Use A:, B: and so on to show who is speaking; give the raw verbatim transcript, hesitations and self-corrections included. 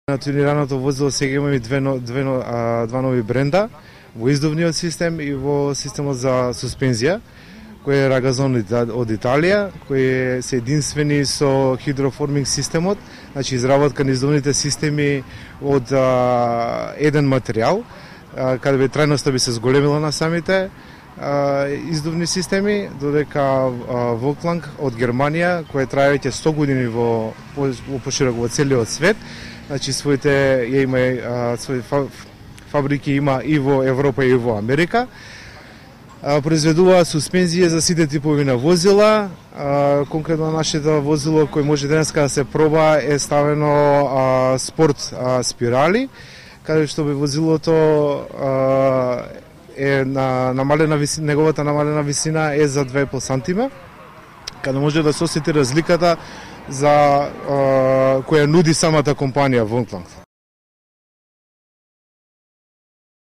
A: На тунираното возило сега имаме две, две, два нови бренда, во издувниот систем и во системот за суспензија, кој е Ragazon од Италија, кои се единствени со хидроформинг системот, значи изработка на издувните системи од а, еден материјал, а, каде би трајноста би се зголемила на самите а, издувни системи, додека Volklang од Германија, која трае веќе сто години во, во пошироко во целиот свет, значи своите ја има а, свои фабрики има и во Европа и во Америка. А, произведува суспензија за сите типови на возила. А, конкретно нашето возило кој може денеска да се проба е ставено а, спорт а, спирали, каде што би возилото а, е на намалена висина, неговата намалена висина е за две и пол сантима, каде може да се осети разликата за а, која нуди самата компанија Volklang.